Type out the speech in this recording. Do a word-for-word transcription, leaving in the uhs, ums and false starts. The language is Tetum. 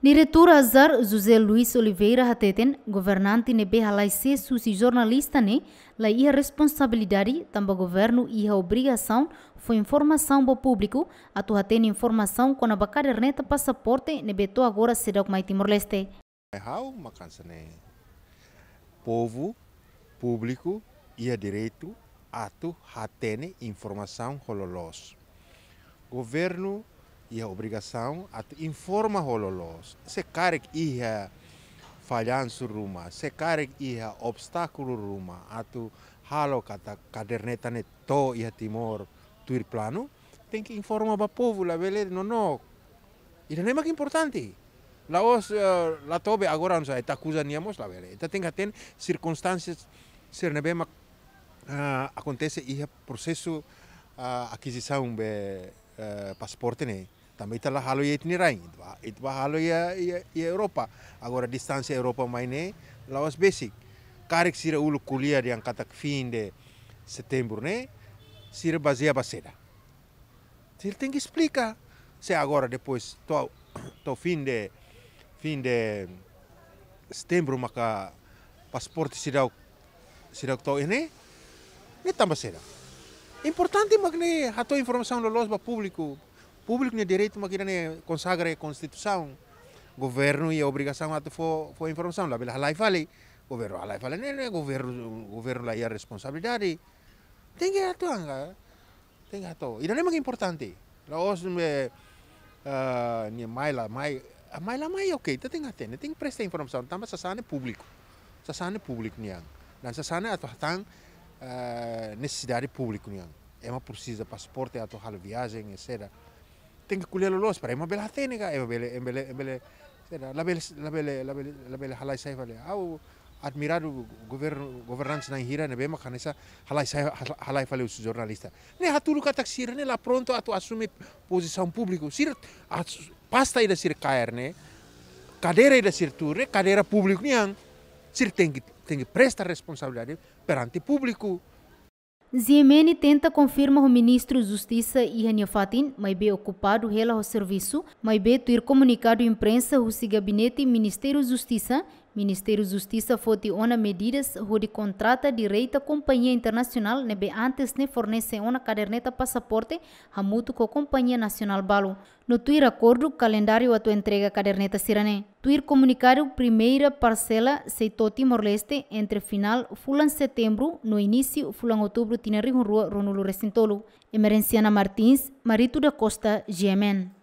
Diretór ASAR, José Luis Oliveira, hateten governante ne'ebé halai sees husi jornalista ne'e la iha responsabilidade, tanba governu iha obrigasaun fó informasaun ba públiku atu hatene informasaun kona-ba kaderneta pasaporte ne'ebé to'o agora seidauk mai Timor-Leste. Ha'u mak hanesan ne'e. Povu, públiku iha direitu atu hatene informasaun ho loloos. Governu iha obrigasaun atu informa ho loloos. Se karik iha fallansu ruma, se karik iha obstákulu ruma atu halo katak kaderneta ne'e to'o iha Timor tuir planu, tenke informa ba povu, labele nonook. Ida-ne'e mak importante. La'ós, eh, la tobe agora, no sa, ita akuza nia mós, labele. Ita tenke hatene sirkunstánsia sira ne'ebé mak, ah, akontese iha prosesu, ah, akizisaun be, eh, pasaporte ne'e. Tanba ita la halo iha ita-nia rain, ita bá, ita bá halo iha, iha, iha Europa. Agora distánsia Europa mai ne'e la'ós besik. Karik sira uluk ko'alia dehan katak fim de setembro ne'e, sira bazeia ba saida? Sira tenke esplika. Se agora depois to'o, to'o fim de, fim de setembro maka pasaporte seidauk, seidauk to'o iha ne'e, ne'e tanba saida? Importante mak ne'e hato'o informasaun loloos ba públiku. Públiku nia direitu mak ida-ne'e konsagra iha Konstituisaun. Governu iha obrigasaun atu fó, fó informasaun, labele halai fali. Governu halai fali ne'e, ne'e governu, governu la iha responsabilidade. Tenke hato'o anga. Tenke hato'o. Ida-ne'e mak importante. La'ós ne'e, ah, nia mai la mai, ah, mai la mai, oke, ita tenke hatene, tenke presta informasaun, tanba sasán ne'e públiku. Sasán ne'e públiku nian. Dan sasán ne'e atu hatán, ah, nesesidade públiku nian. Ema presiza pasaporte atu halo viajen, et cetera. Tenke ko'alia loloos para ema bele hatene ka, ema bele, ema bele, ema bele, sera, labele, labele, labele, labele halai sai fali. Ha'u admiradu governu, governante na'in hira ne'ebé mak hanesan halai sai, halai fali husi jornalista. Ne'e hatudu katak sira ne'e la prontu atu asume pozisaun públiku. Sira, as-, pasta ida sira kaer ne'e, kadeira ida sira tuur ne'e, kadeira públiku nian. Sira tenke, tenke presta responsabilidade perante públiku. G M N tenta konfirma ho Ministru Justisa iha nia fatin, maibé okupadu hela ho servisu, maibé tuir komunikadu imprensa husi Gabinete Ministériu Justisa, Ministériu Justisa foti ona medidas hodi kontrata direta kompañia internasionál ne'ebé antes ne'e fornese ona kaderneta pasaporte hamutuk ho kompañia nasionál balu. No tuir akordu kalendáriu atu entrega kaderneta sira-ne'e. Tuir komunikadu, primeira parsela sei to'o Timor-Leste entre finál fulan Setembru no inísiu fulan Outubru tinan rihun rua ruanulu-resin-tolu. Emerenciana Martins, Marito da Costa, G M N.